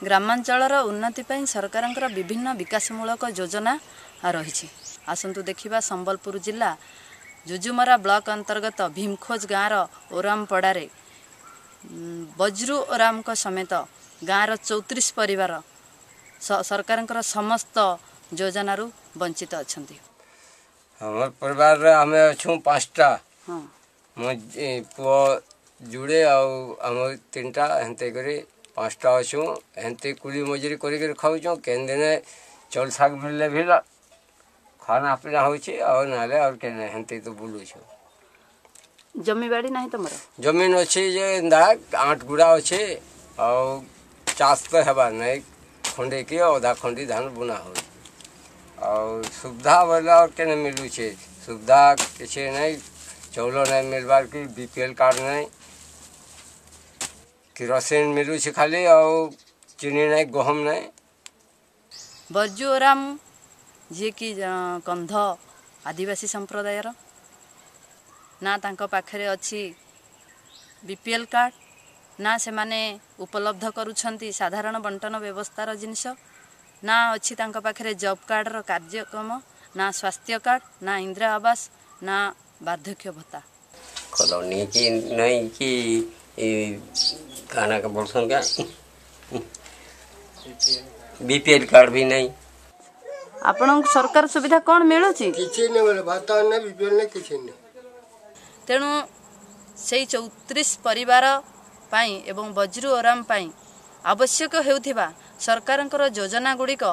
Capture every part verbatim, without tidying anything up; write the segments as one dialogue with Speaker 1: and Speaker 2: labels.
Speaker 1: ଗ୍ରାମାଞ୍ଚଳର ଉନ୍ନତି ପାଇଁ ସରକାରଙ୍କର ବିଭିନ୍ନ ବିକାଶମୂଳକ ଯୋଜନା ରହିଛି। ଆସନ୍ତୁ ଦେଖିବା, ସମ୍ବଲପୁର ଜିଲ୍ଲା ଯୁଯୁମରା ବ୍ଲକ ଅନ୍ତର୍ଗତ ଭୀମଖୋଜ ଗାଁର ଓରାମପଡ଼ାରେ ବଜ୍ରୁ ଓରାମଙ୍କ ସମେତ ଗାଁର ଚଉତିରିଶ ପରିବାର ସରକାରଙ୍କର ସମସ୍ତ ଯୋଜନାରୁ ବଞ୍ଚିତ ଅଛନ୍ତି।
Speaker 2: ଆମର ପରିବାରରେ ଆମେ ଅଛୁ ପାଞ୍ଚଟା, ମୋ ପୁଅ ଯୁଡ଼େ ଆଉ ଆମ ତିନିଟା, ହେନ୍ତି କରି ପାଞ୍ଚଟା ଅଛୁ। ହେନ୍ତି କୁଲି ମଜୁରୀ କରିକିରି ଖାଉଛୁ। କେନ୍ ଦିନେ ଚାଉଳ ଶାଗ ମିଳିଲେ ବି ଖାନା ପିନା ହେଉଛି, ଆଉ ନହେଲେ ଆଉ କେନ୍ ହେନ୍ତି ତ ବୁଲୁଛୁ।
Speaker 1: ଜମିବାଡ଼ି ନାହିଁ ତମର?
Speaker 2: ଜମିନ ଅଛି ଯେ ଏନ୍ତା ଆଠ ଗୁଡ଼ା ଅଛି, ଆଉ ଚାଷ ତ ହେବାର ନାଇଁ। ଖଣ୍ଡେ କି ଅଧା ଖଣ୍ଡି ଧାନ ବୁଣା ହେଉଛି। ଆଉ ସୁବିଧା ବୋଇଲେ ଆଉ କେନେ ମିଳୁଛେ? ସୁବିଧା କିଛି ନାଇଁ। ଚାଉଳ ନାଇଁ ମିଲବାର କି ବି ପି ଏଲ୍ କାର୍ଡ଼ ନାଇଁ, କିରୋସିନ ମିଳୁଛି ଖାଲି, ଆଉ ଚିନି ନାଇଁ, ଗହମ ନାଇଁ।
Speaker 1: ବର୍ଜୁ ଓରାମ, ଯିଏକି କନ୍ଧ ଆଦିବାସୀ ସମ୍ପ୍ରଦାୟର, ନା ତାଙ୍କ ପାଖରେ ଅଛି ବି ପି ଏଲ୍ କାର୍ଡ଼, ନା ସେମାନେ ଉପଲବ୍ଧ କରୁଛନ୍ତି ସାଧାରଣ ବଣ୍ଟନ ବ୍ୟବସ୍ଥାର ଜିନିଷ, ନା ଅଛି ତାଙ୍କ ପାଖରେ ଜବ୍ କାର୍ଡ଼ର କାର୍ଯ୍ୟକ୍ରମ, ନା ସ୍ୱାସ୍ଥ୍ୟ କାର୍ଡ଼, ନା ଇନ୍ଦିରା ଆବାସ, ନା ବାର୍ଦ୍ଧକ୍ୟ ଭତ୍ତା।
Speaker 3: କଲୋନୀ କି ନାଇଁ କି କାଣା ବୋଲସନ୍ କା, ବିପିଏଲ୍ କାର୍ଡ଼ ବି ନାଇଁ।
Speaker 1: ଆପଣଙ୍କୁ ସରକାର ସୁବିଧା କ'ଣ ମିଳୁଛି?
Speaker 4: କିଛି ନାଇଁ ମିଳେ, ଭାତ ନାଇଁ, ବିପିଏଲ୍ ନାଇଁ, କିଛି ନାଇଁ।
Speaker 1: ତେଣୁ ସେଇ ଚଉତିରିଶ ପରିବାର ପାଇଁ ଏବଂ ବଜ୍ରୁ ଓରାମ ପାଇଁ ଆବଶ୍ୟକ ହେଉଥିବା ସରକାରଙ୍କର ଯୋଜନା ଗୁଡ଼ିକ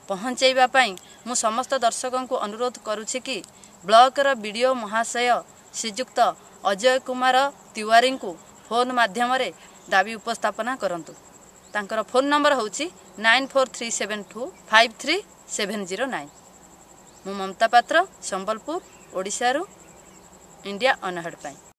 Speaker 1: ପହଞ୍ଚାଇବା ପାଇଁ ମୁଁ ସମସ୍ତ ଦର୍ଶକଙ୍କୁ ଅନୁରୋଧ କରୁଛି କି ବ୍ଲକର ବି ଡ଼ି ଓ ମହାଶୟ ଶ୍ରୀଯୁକ୍ତ ଅଜୟ କୁମାର ତିୱାରୀଙ୍କୁ ଫୋନ୍ ମାଧ୍ୟମରେ ଦାବି ଉପସ୍ଥାପନା କରନ୍ତୁ। ତାଙ୍କର ଫୋନ୍ ନମ୍ବର ହେଉଛି nine four three seven two five three seven zero nine. ମୁଁ ମମତା ପାତ୍ର, ସମ୍ବଲପୁର, ଓଡ଼ିଶାରୁ ଇଣ୍ଡିଆ ଅନହେଡ଼ ପାଇଁ।